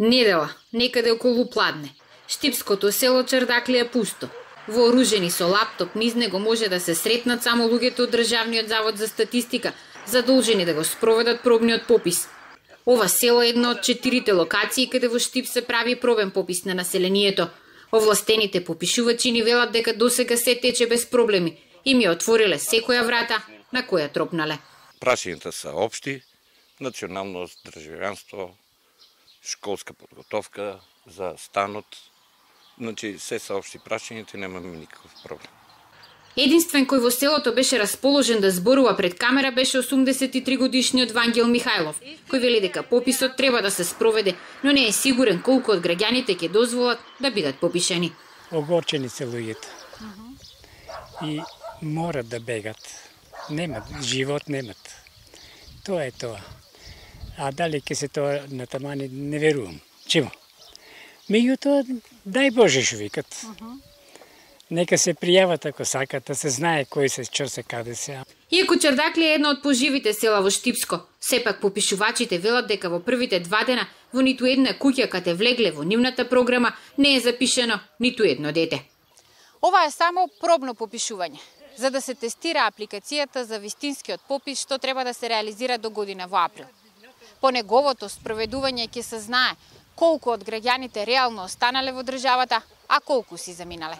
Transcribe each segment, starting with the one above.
Недела, некаде околу Пладне. Штипското село Чардакле е пусто. Вооружени со лаптоп низ него може да се сретнат само луѓето од Државниот завод за статистика, задолжени да го спроведат пробниот попис. Ова село е една од 4 локации каде во Штип се прави пробен попис на населението. Овластените попишувачи ни велат дека досега се тече без проблеми и ми отвориле секоја врата на која тропнале. Прашањата се општи: националност, државјанство, школска подготовка, за станот. Значи, се се општи прашањата и немаме никаков проблем. Единствен кој во селото беше расположен да зборува пред камера беше 83 годишниот Вангел Михајлов, кој вели дека пописот треба да се спроведе, но не е сигурен колку од граѓаните ќе дозволат да бидат попишани. Огорчени се луѓето. И морат да бегат. Немат, живот немат. Тоа е тоа. А дали ќе се тоа на тамани, не верувам. Чему? Меѓутоа, дај Боже што викат. Нека се пријават ако сакат, да се знае кој се, што се, каде се. Иако Чардакле е едно од поживите села во Штипско, сепак попишувачите велат дека во првите 2 дена во ниту една куќа каде влегле во нивната програма не е запишено ниту едно дете. Ова е само пробно попишување, за да се тестира апликацијата за вистинскиот попис што треба да се реализира до година во април. По неговото спроведување ќе се знае колку од граѓаните реално останале во државата, а колку си заминале.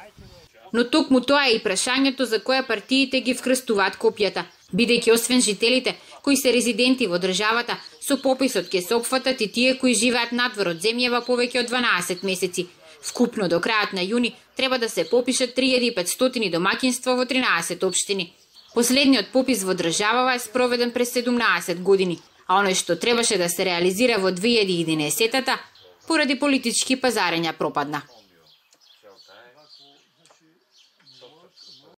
Но токму тоа е и прашањето за која партиите ги вкрстуваат копијата, бидејќи освен жителите кои се резиденти во државата, со пописот ќе се опфатат и тие кои живеат надвор од земјава повеќе од 12 месеци. Вкупно до крајот на јуни треба да се попишат 3500 домаќинства во 13 општини. Последниот попис во државава е спроведен през 17 години, а оној што требаше да се реализира во 2011-та, поради политички пазарења пропадна.